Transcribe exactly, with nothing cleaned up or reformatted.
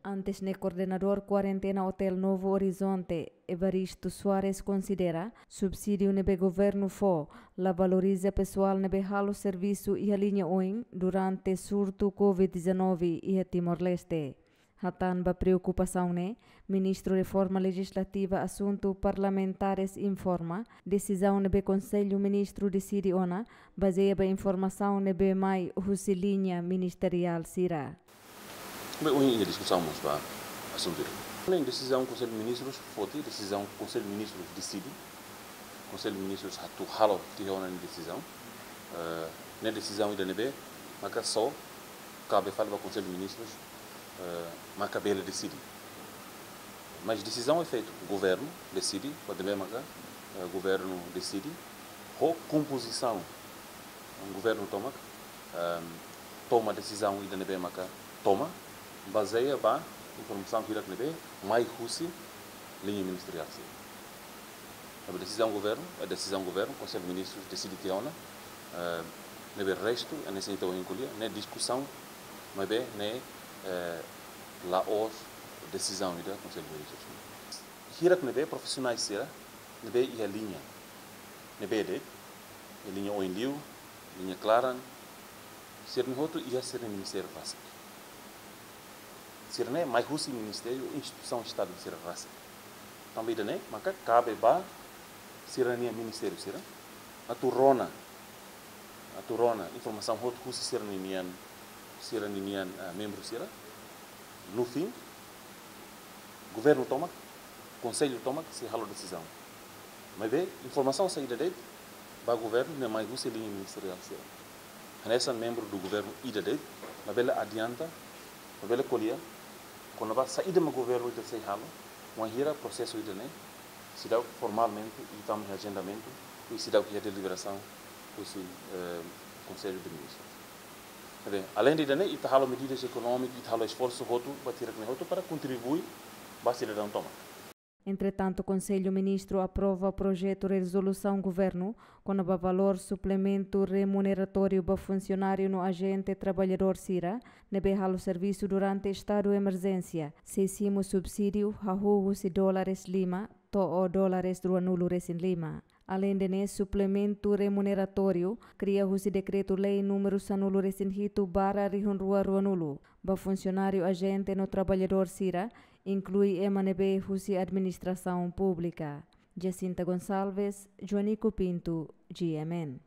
Antes ne'e, koordenadór kuarentena Hotel Novo Horizonte, Evaristo Soares, konsidera subsídiu ne'ebé governu fó la valoriza pesoál ne'ebé halo servisu iha liña oin durante surtu Covid dezanove iha Timor-Leste. Hatán ba preokupasaun ne'e, Ministru Reforma Lejizlativa Asuntu Parlamentares informa desizaun ne'ebé Konsellu Ministru deside ona bazeia ba informasaun ne'ebé mai husi liña ministeriál sira. Be, ohin iha diskusaun mós ba asuntu ida. Ne'e desizaun Konsellu Ministrus foti, desizaun Konsellu Ministrus deside. Konsellu Ministrus atu halo tiha ona nia desizaun. Eh, ne'e desizaun ida ne'ebé maka só kabe fali ba Konsellu Ministrus, eh, maka bele deside. Mas desizaun efeitu, governu deside, ba ne'ebé maka, eh, governu deside, ho kompozisaun governu tomak, ehm, toma desizaun ida ne'ebé maka toma, bazeia ba informasaun hirak ne'ebé mai husi liña ministeriál sira. Tanba desizaun governu, eh, desizaun governu, Konsellu Ministrus deside tiha ona, eh, ne'ebé restu, eh, ne'e sei tau inkulia, ne'e diskusaun, maibé ne'e, eh, la'ós desizaun ida Konsellu Ministrus. Hirak ne'ebé profisionais sira, ne'ebé iha liña, ne'ebé de'it, iha liña oin liu, liña klaran, sira-ne'e hotu iha sira-nia ministériu rasik. Sira-ne'e mai husi ministériu, instituisaun Estadu sira rasik. Tanba ida-ne'e, maka kabe ba sira-nia ministériu sira atu rona, atu rona informasaun hotu husi sira-ninian, sira-ninian, ah, membru sira. No fim, governu tomak, konsellu tomak sei halo desizaun. Maibé informasaun saida de'it ba governu ne'e mai husi liña ministeriál sira. Hanesan membru do governu ida de'it, labele adianta, labele ko'alia kona-ba saida mak governu ita sei halo, wainhira prosesu ida-ne'e seidauk formalmente, i tama iha ajendamentu, i seidauk iha deliberasaun husi, eh, Konsellu de Ministrus. Entaun, aleinde ida-ne'e, ita halo medidas ekonómikas, ita halo esforsu hotu, ba hirak ne'e hotu para kontribui ba sidadaun tomak. Entretantu, Konsellu Ministru aprova projetu rezolusaun governu kona-ba valór suplementu remuneratóriu ba funsionáriu no ajente traballadór sira ne'ebé halo servisu durante estadu emerjénsia, sei simu subsídiu hahú husi dólares lima to'o dólares ruanulu resin lima. Aleinde ne'e, suplementu remuneratóriu kria husi Dekretu-Lei númeru sanulu resin hitu barra rihun rua ruanulu, ba funsionáriu, ajente no traballadór sira, inklui ema ne'ebé husi administrasaun públika. Jacinta Gonçalves, Joanico Pinto, G M N.